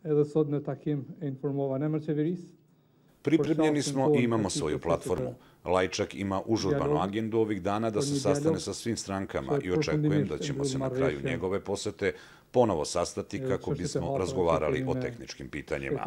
edhe sot në takim e informova në emër qeverisë. Pripremljeni smo i imamo svoju platformu. Lajčak ima užurbanu agendu ovih dana da se sastane sa svim strankama i očekujem da ćemo se na kraju njegove posete ponovo sastati kako bismo razgovarali o tehničkim pitanjima.